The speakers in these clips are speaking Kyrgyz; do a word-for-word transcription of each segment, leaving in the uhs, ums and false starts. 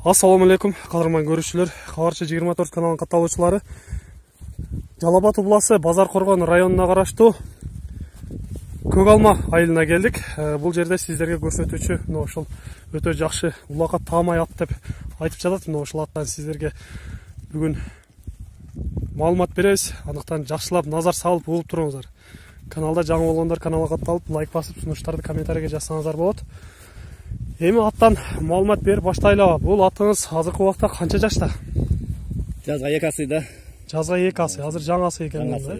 Ассаламу алейкум, кадырман көрүүчүлөр. Кабарчы жыйырма төрт каналынын катталуучулары. Жалал Абад областы Базар Коргон районуна караштуу Көк Алма айылына келдик. Бул жерде сиздерге көрсөтүүчү мына ошол өтө жакшы улакка таамай ат деп айтып жатат. Мына ошол аттан сиздерге бүгүн маалымат беребиз. Андыктан жакшылап назар салып угуп туруңуздар. Каналда жаңы болгондор каналга катталып, лайк басып, сунуштарды комментарийге жазсаңыздар болот. Эми аттан маалымат берип баштайлы. Бул атыңыз азыркы убакта канча жашта? Жазга эки асыйда. Жазга эки асый. Азыр жаңасы экен да.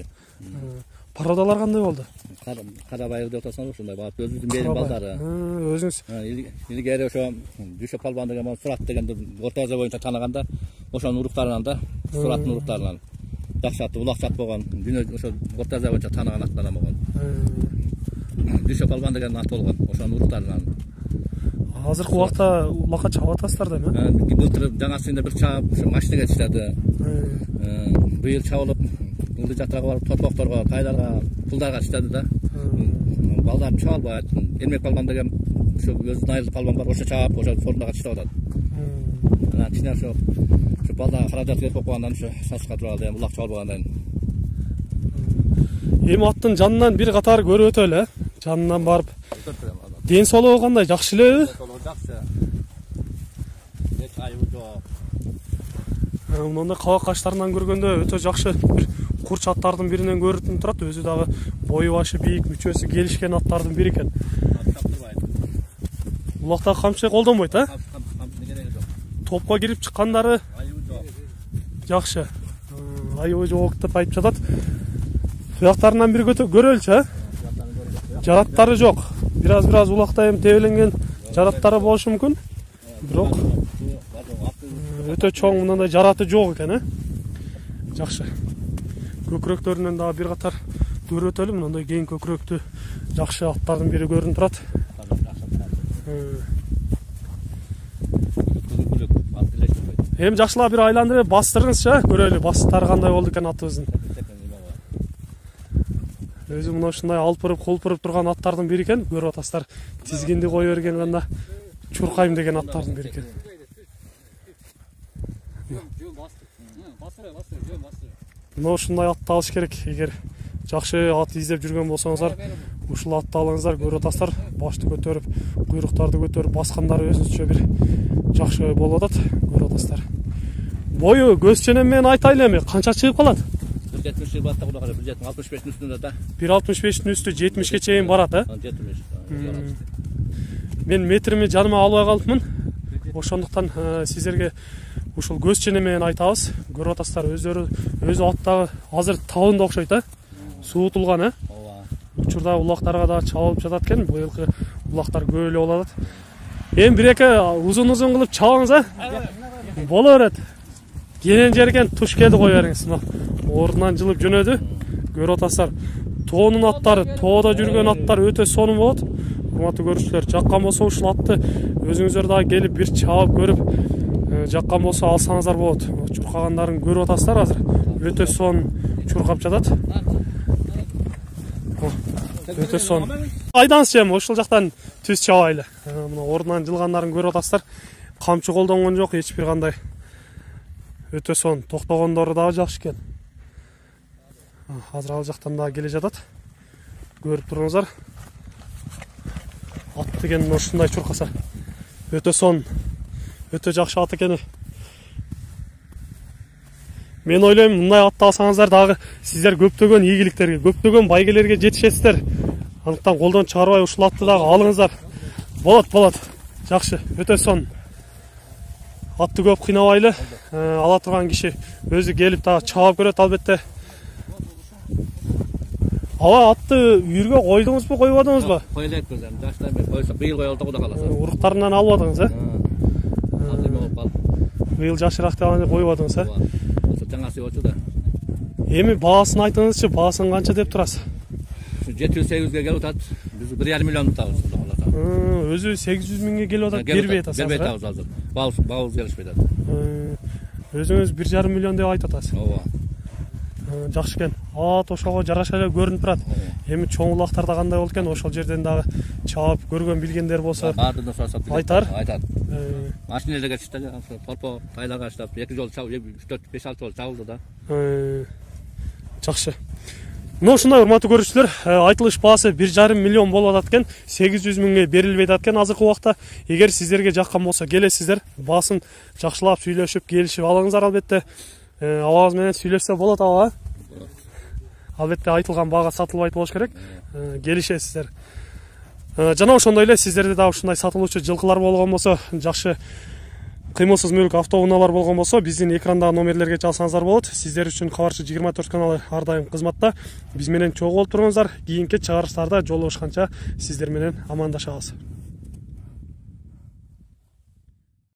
Пародалар кандай болду? Карабайыр деп атасыңар ушундай баап өзүбүздүн берим балдары. Өзүңүз илгери ошо Дүшө Палбан деген Сурат дегенди орто азия боюнча тааныганда, ошонун уруктарынан да, Сураттын уруктарынан жакшы аты, улакчат болгон, дүйнө ошо орто азия боюнча тааныган аттардан болгон. Дүшө Палбан деген ат болгон, ошонун уруктарынан. Азыркы убакта улакка чабып атасыздар да эми? Былтыр жаңасында бир чаап, ушу машинеге иштеди. Быйыл чабылып, ылды жатырга барып, топокторго, тайларга, пулдарга иштеди да. Балдар чабылбайт. Эрмек Палбан деген ушу өзүнүн айылы палбан бар, ошо чаап, ошо сорунда иштеп атат. Анан кичине ошо ушу балдарга каражат керек болуп калгандан ушу сачка тура алды, улак чабылбагандан. Эми аттын жанынан бир катар көрүп өтөлү, э? Жанынан барып. Ден соолугу кандай, жакшы элеби? Жакшы. Эч айыбы жок. Мындай кабак каштарынан көргөндө өтө жакшы бир курч аттардын биринен көрүнүп турат. Өзү дагы бою башы бийик, мүчөсү келишкен аттардын бири экен. Улакта камчы колдонбойт, э? Топко кирип чыккандары айыбы жок. Жакшы. Айыбы жок деп айтып жатат. Туяктарынан бир көрөлчү, э? Жараттары жок. Бираз-бираз улакта эми тебеленген жараттары болушу мүмкүн. Бирок өтө чоң мындай жараты жок экен, э? Жакшы. Көкүрөктөрүнөн дагы бир катар көрүп өтөлү. Мындай кең көкүрөктүү жакшы аттардын бири көрүнүп турат. Эми жакшылап бир айландырып бастырыңызчы, көрөлү бастары кандай болду экен атыбыздын. Өзү мына ушундай алпырып, кулпуруп турган аттардын бири экен. Көрүп атасыздар. Тизгинди кое берген гана чуркайм деген аттардын бири экен. Мына ушундай атты алыш керек. Эгер жакшы ат издеп жүргөн болсоңуздар, ушул атты алыңыздар. Көрүп атасыздар. Башты көтөрүп, куйруктарды көтөрүп баскандары өзүнчө бир жакшы болуп атат. Көрүп атасыздар. Бою көз ченем менен айтайлы эми, канча чыгып калат? бир жетимиш жыл бата куда бир алтымыш бештин үстүндө да. бир алтымыш бештин үстү жетимишке чейин барат, э? жетимиш. Мен метрими жаныма албай калыпмын. Ошондуктан сиздерге ушул көз ченем менен айтабыз. Көрүп атасыздар, өздөрү өзү аттагы азыр табында окшойт, э? Суутулган, э? Ооба. Учурда улактарга да чабылып жатат экен. Быйылкы улактар көп эле болот. Эми бир эки узун-узун кылып чабыңыз, э? Боло берет. Кенен жерген туш келди кой бериңиз. Ордунан жылып жөнөдү. Көрүп атасыздар. Тоонун аттары, тоодо жүргөн аттар өтө сонун болот. Урматтуу көрүүчүлөр, жаккан болсо ушул атты өзүңүздөр дагы келип бир чабып көрүп, жаккан болсо алсаңыздар болот. Чуркагандарын көрүп атасыздар азыр. Өтө сонун чуркап жатат. Өтө сонун. Айдаңызчы эми ушул жактан түз чабайлы. Мына ордунан жылгандарын көрүп атасыздар. Камчы колдонгон жок, эч бир кандай. Өтө сонун, токтогондору дагы жакшы экен. Азыр ал жактан дагы келе жатат. Көрүп туруңуздар. Ат деген ушундай чуркаса өтө сонун. Өтө жакшы ат экен. Мен ойлойм, мындай атты алсаңыздар дагы сиздер көптөгөн ийгиликтерге, көптөгөн байгелерге жетишесиздер. Андыктан колдон чыгарбай ушул атты дагы алыңыздар. Болот, болот. Жакшы, өтө сонун. Атты көп кыйнабайлы. Ала турган киши өзү келип дагы чабып көрөт албетте. Ава атты үйүргө койдуңузбу, койбодуңузбу? Кой элекпиз эми, жашта эми койсок, быйыл коелу да куда каласа. Уруктарынан албадыңыз, э? Азыр эме болуп калды. Быйыл жашыраак деп аны койбодуңуз, э? Ошо жаңасы болчу да. Эми баасын айтыңызчы, баасын канча деп турасыз? жети жүз сегиз жүзгө келип атат. Биз бир жарым миллион утабыз куда каласа. Өзү сегиз жүз миңге келип атат, бербей атасыз. Бербей атабыз азыр. Баабыз, баабыз келишпей атат. Өзүңүз бир жарым миллион деп айтып атасыз. Ооба. Жакшы экен. От ошого жараша эле көрүнүп турат. Эми чоң улактарда кандай болот экен, ошол жерден дагы чаап көргөн билгендер болсо баардыгын сурасат. Айтар. Айтат. Машина эле кетишти да, торпо тайларга чаап эки жол чабып, үч төрт беш алты жол чабылды да. Жакшы. Мына ушундай урматтуу көрүүчүлөр, айтылыш баасы бир жарым миллион болуп атат экен, сегиз жүз миңге берилбей атат экен азыркы убакта. Эгер сиздерге жаккан болсо келесиздер, баасын жакшылап сүйлөшүп, келишип алыңыздар албетте. Абагыбыз менен сүйлөшсө болот аба. Албетте айтылган баага сатылбайт болуш керек. Келишесиздер. Жана ошондой эле сиздерде дагы ушундай сатылуучу жылкылар болгон болсо, жакшы кыймылсыз мүлк автоунaalар болгон болсо, биздин экрандагы номерлерге чалсаңыздар болот. Сиздер үчүн Кабарчы жыйырма төрт каналы ар дайым кызматта. Биз менен чогуу болуп туруңуздар. Кийинки чыгарыштарда жолугушканча сиздер менен амандашабыз.